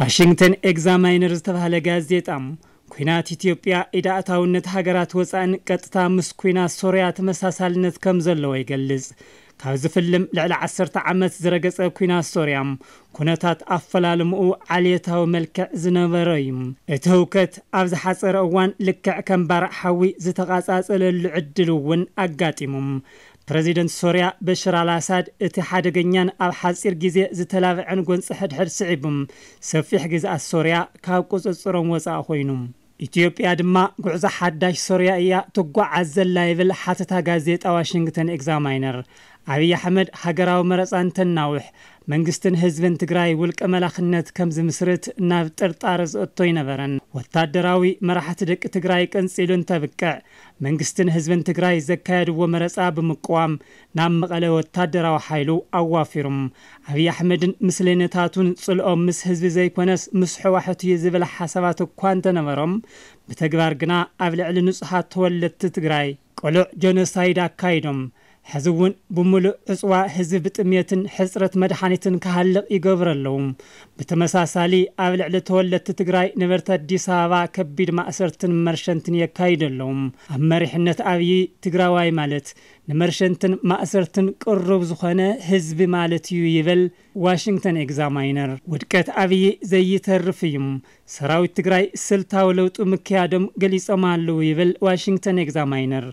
ዋሽንግተን ኤግዛማይነር ዝተባህለ ጋዜጣ፣ ኲናት ኢትዮጵያ ኢድ ኣእታውነት ሃገራት ወጻእን ቀጥታ ምስ ኲናት ሶርያ ተመሳሳልነት ከም ዘለዎ ይገልጽ። ካብ ዝፍልም ልዕሊ ዓሰርተ ዓመት ዝረገጸ ኲናት ሶርያ፣ ኩነታት ኣፈላልምኡ ዓሌታዊ መልክዕ ዝነበሮ እዩ። እቲ ህውከት ኣብ ዝሓጸረ እዋን ልክዕ ከም ባርዕ ሓዊ ዝተቓጻጸለሉ ዕድል እውን ኣጋጢሙ። ፕረዚደንት ሶርያ በሽር ኣልኣሳድ እቲ ሓደገኛን ኣብ ሓጺር ግዜ ዝተላብዐን ጎንጺ ሕድሕድ ስዒቡ፣ ሰፊሕ ግዝኣት ሶርያ ካብ ቁጽጽሮም ወጻኢ ኮይኑ። ኢትዮጵያ ድማ ጉዕዞ ሓዳሽ ሶርያ እያ ትጓዓዝ ዘላ ይብል ሓተታ ጋዜጣ ዋሽንግተን ኤግዛማይነር። ኣብይ ኣሕመድ ሃገራዊ መረጻ እንተናውሕ፣ መንግስትን ህዝብን ትግራይ ውልቀ መላኽነት ከም ዝምስርት ናብ ጥርጣረ ዘእቶ ኣይነበረን። ወታደራዊ መራሕቲ ደቂ ትግራይ ቀንጺሉ እንተብቅዕ፣ መንግስትን ህዝብን ትግራይ ዘካየድዎ መረጻ ብምቅዋም ናብ መቐለ ወታደራዊ ሓይሉ ኣዋፊሩም። ኣብይ ኣሕመድን ምስለኔታቱን ጽልኦም ምስ ህዝቢ ዘይኮነስ ምስ ሕዋሕት እዩ ዝብል ሓሳባት እኳ እንተነበሮም፣ ብተግባር ግና ኣብ ልዕሊ ንጹሃት ተወለድቲ ትግራይ ቅሉዕ ጀኖሳይድ ኣካይዶም። ሕዚ እውን ብምሉእ ዕጽዋ ህዝቢ ብጥሜትን ሕጽረት መድሓኒትን ክሃልቕ ይገብሩ ኣለዉ። ብተመሳሳሊ ኣብ ልዕሊ ተወለድቲ ትግራይ ነበርቲ ኣዲስ ኣበባ ከቢድ ማእሰርትን መርሸንትን የካይዱ ኣለዉ። ኣብ መሪሕነት ኣብይ ትግራዋይ ማለት ንመርሸንትን ማእሰርትን ቅሩብ ዝኾነ ህዝቢ ማለት እዩ ይብል ዋሽንግተን ኤግዛማይነር። ውድቀት ኣብይ ዘይተርፍ እዩ። ሰራዊት ትግራይ ስልታዊ ለውጢ ምክያዶም ገሊጾም ኣለዉ ይብል ዋሽንግተን ኤግዛማይነር።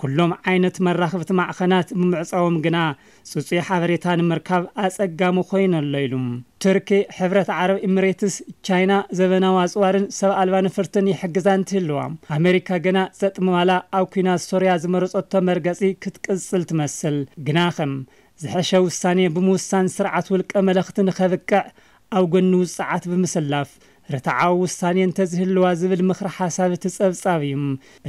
ኩሎም ዓይነት መራኽብቲ ማዕኸናት ብምዕጻዎም ግና ጽጹይ ሓበሬታ ንምርካብ ኣጸጋሚ ኮይኑ ኣሎ ኢሉ። ቱርኪ፣ ሕብረት ዓረብ ኢሚሬትስ፣ ቻይና ዘበናዊ ኣጽዋርን ሰብ ኣልባ ነፈርትን ይሕግዛ እንትህልዋ፣ ኣሜሪካ ግና ጸጥ ምባላ ኣብ ኲናት ሶርያ ዝመረጸቶ መርገጺ ክትቅጽል ትመስል። ግናኸ ዝሐሸ ውሳኔ ብምውሳን ስርዓት ውልቀ መለኽቲ ንኸብቅዕ ኣብ ጎኒ ውጽዓት ብምስላፍ ርትዓዊ ውሳኔ እንተዝህልዋ ዝብል ምኽሪ ሓሳብ እቲ ጸብጻብ እዩ።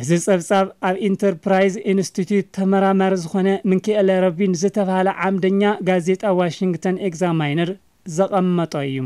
እዚ ጸብጻብ ኣብ ኢንተርፕራይዝ ኢንስቲትዩት ተመራማሪ ዝኾነ ሚካኤል ረቢን ዝተባህለ ዓምደኛ ጋዜጣ ዋሽንግተን ኤግዛማይነር ዘቐመጦ እዩ።